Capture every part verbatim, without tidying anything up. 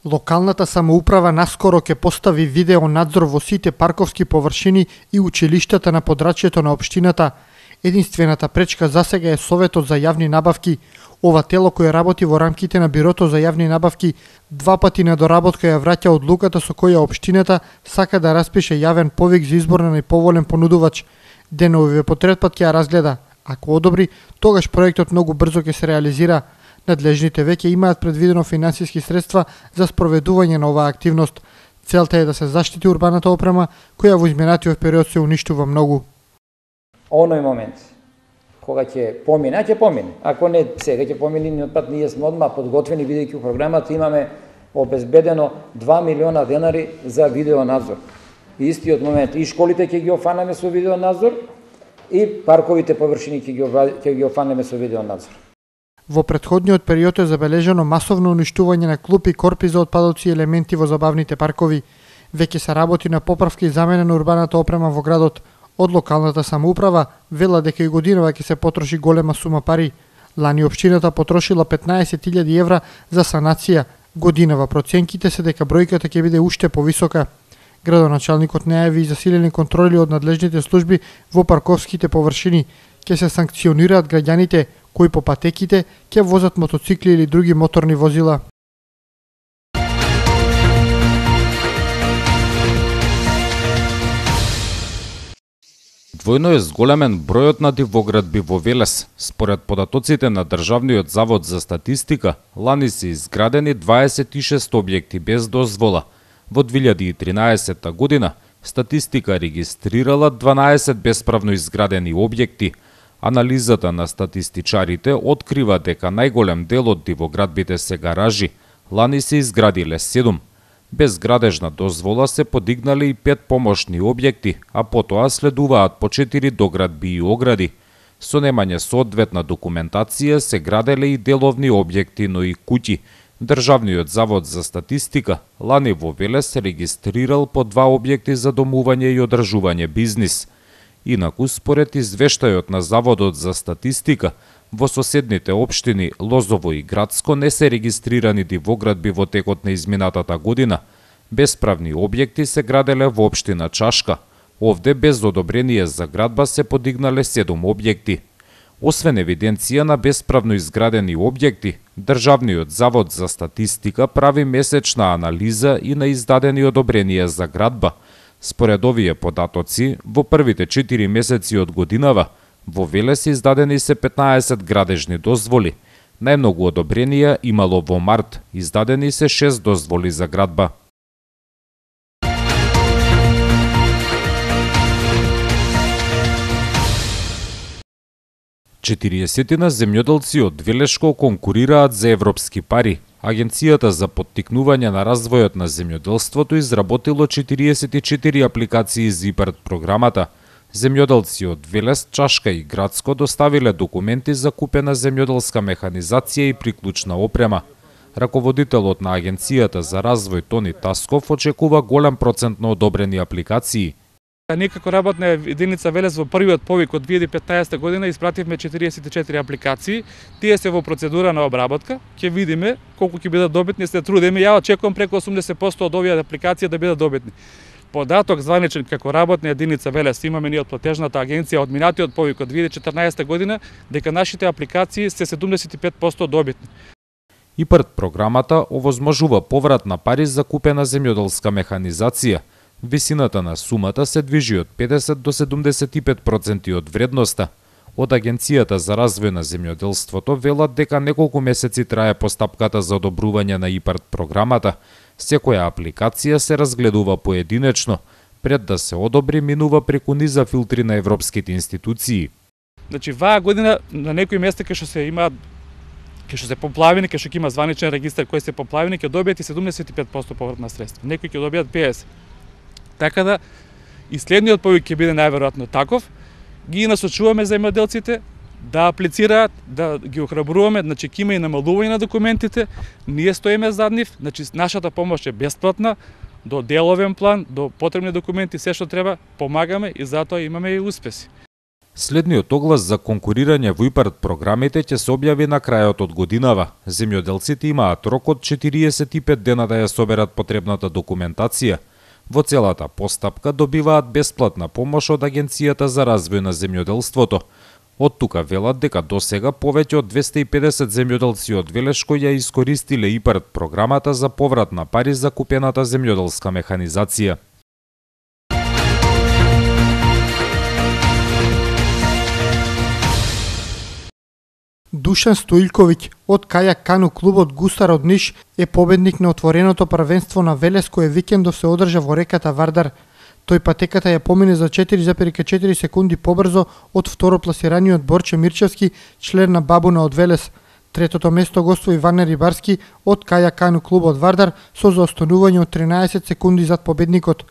Локалната самоуправа наскоро ќе постави видео надзор во сите парковски површини и училиштата на подрачјето на општината. Единствената пречка засега е Советот за јавни набавки. Ова тело кој работи во рамките на Бирото за јавни набавки два пати на доработка ја враќа одлуката со која општината сака да распише јавен повик за избор на најповолен понудувач. ДНУ по трет пат ќе ја разгледа. Ако одобри, тогаш проектот многу брзо ќе се реализира. Надлежните веќе имаат предвидено финансиски средства за спроведување на оваа активност. Целта е да се заштити урбаната опрема, која во изминатиот период се уништува многу. Оној момент, кога ќе помине, ќе помине. Ако не сега ќе помине, ни пат ние сме одма подготвени, бидејќи у програмата имаме обезбедено два милиона денари за видеонадзор. И истиот момент, и школите ќе ги офанеме со видеонадзор, и парковите површини ќе ги, ќе ги офанеме со видеонадзор. Во претходниот период е забележано масовно уништување на клупи, корпи за отпадоци и елементи во забавните паркови. Веќе се работи на поправка и замена на урбаната опрема во градот. Од локалната самоуправа вела дека и годинава ќе се потроши голема сума пари. Лани општината потрошила петнаесет илјади евра за санација. Годинава проценките се дека бројката ќе биде уште повисока. Градоначалникот најави и засилени контроли од надлежните служби во парковските површини. Ќе се санкционираат граѓаните кои по патеките ќе возат мотоцикли или други моторни возила. Двојно е зголемен бројот на дивоградби во Велес. Според податоците на Државниот завод за статистика, лани се изградени дваесет и шест објекти без дозвола. Во две илјади и тринаесетта година статистика регистрирала дванаесет бесправно изградени објекти. Анализата на статистичарите открива дека најголем дел од дивоградбите се гаражи. Лани се изградиле седум. Без градежна дозвола се подигнале и пет помошни објекти, а потоа следуваат по четири доградби и огради. Со немање соодветна документација се граделе и деловни објекти, но и куќи. Државниот завод за статистика лани во Велес регистрирал по два објекти за домување и одржување бизнис. Инаку, според извештајот на Заводот за статистика, во соседните општини Лозово и Градско не се регистрирани дивоградби во текот на изминатата година. Бесправни објекти се граделе во општина Чашка. Овде без одобрение за градба се подигнале седум објекти. Освен евиденција на бесправно изградени објекти, Државниот завод за статистика прави месечна анализа и на издадени одобренија за градба. Според овие податоци, во првите четири месеци од годинава, во Велес издадени се петнаесет градежни дозволи. Најмногу одобренија имало во март, издадени се шест дозволи за градба. четириесетина земјоделци од Велешко конкурираат за европски пари. Агенцијата за поттикнување на развојот на земјоделството изработило четириесет и четири апликации за ИПАРД програмата. Земјоделци од Велес, Чашка и Градско доставиле документи за купена земјоделска механизација и приклучна опрема. Раководителот на Агенцијата за развој Тони Тасков очекува голем процент на одобрени апликации. Ние како работна единица Велес во првиот повик од две илјади и петнаесетта година испративме четириесет и четири апликации. Тие се во процедура на обработка. Ќе видиме колку ќе бидат добитни, се трудиме. Ја очекувам преку осумдесет проценти од овие апликации да бидат добитни. Податок званичен како работна единица Велес имаме ние од платежната агенција од минатиот повик од две илјади и четрнаесетта година дека нашите апликации се седумдесет и пет проценти добитни. ИПАРД програмата овозможува поврат на пари за купена земјоделска механизација. Висината на сумата се движи од педесет до седумдесет и пет проценти од вредноста. Од Агенцијата за развој на земјоделството велат дека неколку месеци трае постапката за одобрување на ИПАРД програмата. Секоја апликација се разгледува поединечно. Пред да се одобри, минува преку низа филтри на европските институции. Значи, ваа година на некои места кај што се имаат кај што се поплавени, кај што ќе има званичен регистар кој се поплавени, ќе добијат и седумдесет и пет проценти повратна средства. Некои ќе добијат педесет проценти. Така да, и следниот повик ќе биде најверојатно таков. Ги насочуваме земјоделците да аплицираат, да ги охрабруваме, значи ќе има и намалување на документите. Ние стоиме зад нив, значи нашата помош е бесплатна, до деловен план, до потребни документи, се што треба, помагаме и затоа имаме и успеси. Следниот оглас за конкурирање во ИПАРД програмите ќе се објави на крајот од годинава. Земјоделците имаат рок од четириесет и пет дена да ја соберат потребната документација. Во целата постапка добиваат бесплатна помош од Агенцијата за развој на земјоделството. Од тука велат дека досега повеќе од двесте и педесет земјоделци од Велешко ја искористиле ИПАРД програмата за поврат на пари за купената земјоделска механизација. Душан Стоилковиќ од кајак кану клубот Гусар од Ниш е победник на отвореното првенство на Велес кое викендов се одржа во реката Вардар. Тој патеката ја помине за четири зарез четири секунди побрзо од второпласираниот Борче Мирчевски, член на Бабуна од Велес. Третото место гостува Иване Рибарски од кајак кану клубот Вардар со заостанување од тринаесет секунди зад победникот.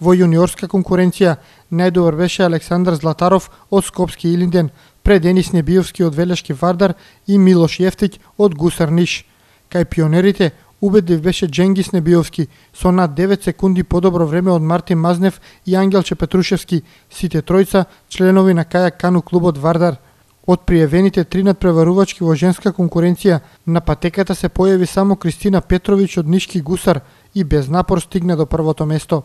Во јуниорска конкуренција најдобар беше Александар Златаров од Скопски Илинден, пред Денис Небиовски од Велешки Вардар и Милош Јефтиќ од Гусар Ниш. Кај пионерите убедлив беше Дженгис Небиовски со над девет секунди подобро време од Мартин Мазнев и Ангелче Петрушевски, сите тројца членови на кајак кану клубот Вардар. Од пријавените три надпреварувачки во женска конкуренција на патеката се појави само Кристина Петровиќ од Нишки Гусар и без напор стигна до првото место.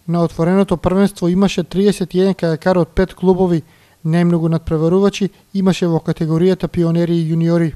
На отвореното првенство имаше триесет и еден кајакар од пет клубови. Најмногу надпреварувачи имаше во категоријата пионери и јуниори.